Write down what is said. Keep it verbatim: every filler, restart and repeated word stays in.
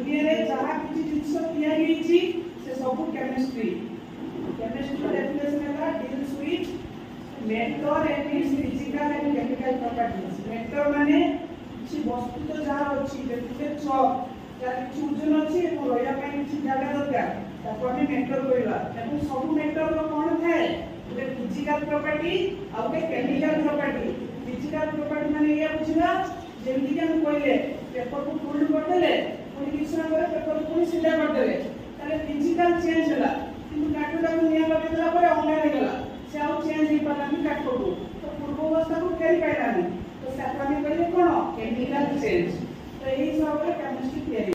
ଦୁନିଆରେ ଯାହା କିଛି ଜିନିଷ ତିଆରି ହେଇଛି ସେ ସବୁ କେମିଷ୍ଟ୍ରି କେମିଷ୍ଟ୍ରି ଡେଫିନେସନ ହେଲା deals with matter and its physical and chemical properties matter ମାନେ କିଛି ବସ୍ତୁ ତ ଯାହା ଅଛି ଯେମିତି ଚକ୍ ଯାହାର କିଛି ଓଜନ ଅଛି ଏବଂ ରହିବା ପାଇଁ କିଛି ଜାଗା ଦରକାର ତାକୁ ଆମେ ମ୍ୟାଟର କହିବା ଏବଂ ସବୁ ମ୍ୟାଟରର କଣ ଥାଏ ଗୋଟେ ଫିଜିକାଲ ପ୍ରପର୍ଟି ଆଉ ଗୋଟେ କେମିକାଲ ପ୍ରପର୍ଟି ଫିଜିକାଲ ପ୍ରପର୍ଟି ମାନେ ଏଇଆ ବୁଝିବା ଯେମିତିକି ଆମେ କହିଲେ ପେପରକୁ ଫୋଲ୍ଡ କରିଦେଲେ ପୁଣି କିଛି ସମୟ ପରେ ପେପରକୁ ପୁଣି ସିଧା କରିଦେଲେ ତାହେଲେ ଫିଜିକାଲ ଚେଞ୍ଜ ହେଲା କିନ୍ତୁ କାଠଟାକୁ ନିଆଁ ଲଗେଇଦେଲା ପରେ ଅଙ୍ଗାର ହେଇଗଲା ସେ ଆଉ ଚେଞ୍ଜ ହେଇପାରିଲାନି କାଠକୁ ତ ପୂର୍ବ ଅବସ୍ଥାକୁ ଫେରି ପାଇଲାନି ତ ତାକୁ ଆମେ କହିଲେ କଣ କେମିକାଲ ଚେଞ୍ଜ ତ ଏଇ ହିସାବରେ କେମିଷ୍ଟ୍ରି ତିଆରି